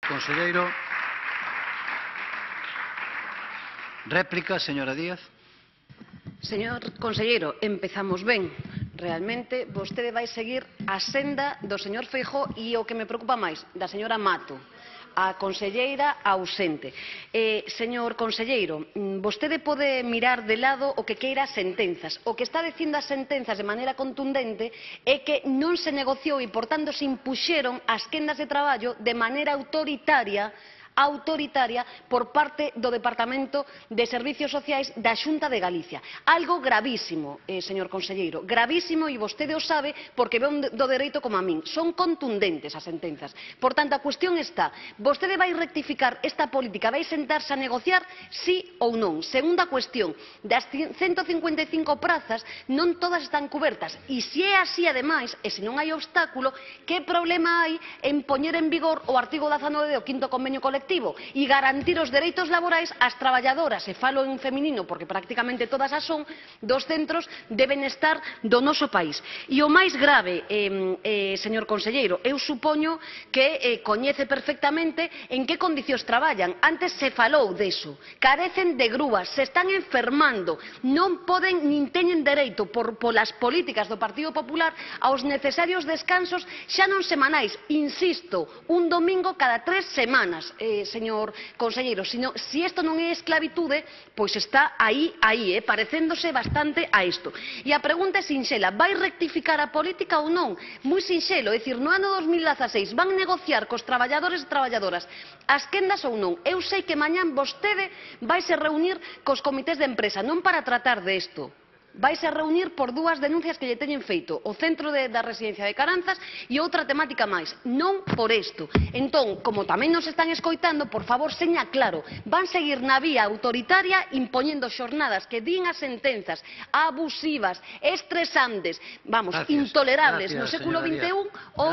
conselleiro. Réplica, señora Díaz. Señor conselleiro, empezamos ben. Realmente, vostede vai seguir a senda do señor Feijóo e o que me preocupa máis, da señora Mato, a conselleira ausente. Señor conselleiro, vostede pode mirar de lado o que queira as sentenzas. O que está dicindo as sentenzas de maneira contundente é que non se negociou e, por tanto, se impuxeron as quendas de traballo de maneira autoritaria por parte do Departamento de Servicios Sociais da Xunta de Galicia. Algo gravísimo, señor conselleiro, gravísimo, e vostede o sabe porque ve do dereito como a min. Son contundentes as sentenzas. Por tanto, a cuestión está, vostede vai rectificar esta política, vai sentarse a negociar, sí ou non? Segunda cuestión, das 155 prazas, non todas están cubertas. E se é así, ademais, e se non hai obstáculo, que problema hai en poñer en vigor o artigo 19 do 5º Convenio Colectivo e garantir os dereitos laborais ás traballadoras, e falo en feminino porque prácticamente todas as son, dos centros de benestar do noso país. E o máis grave, señor conselleiro, eu supoño que coñece perfectamente en que condicións traballan. Antes se falou deso. Carecen de grúas, se están enfermando, non poden nin teñen dereito polas políticas do Partido Popular aos necesarios descansos xa non semanais, insisto, un domingo cada 3 semanas, señor conselleiro. Si isto non é esclavitude, pois está aí, parecéndose bastante a isto. E a pregunta é sinxela, vai rectificar a política ou non? Moi sinxelo, é dicir, no ano 2016 van negociar cos traballadores e traballadoras as quendas ou non? Eu sei que mañán vostede vai se reunir cos comités de empresa, non para tratar de isto. Vais a reunir por dúas denuncias que lle teñen feito, o centro da residencia de Caranzas e outra temática máis, non por isto. Entón, como tamén nos están escoitando, por favor, seña claro, van seguir na vía autoritaria impoñendo xornadas que din as sentenzas abusivas, estresantes, intolerables no século XXI ou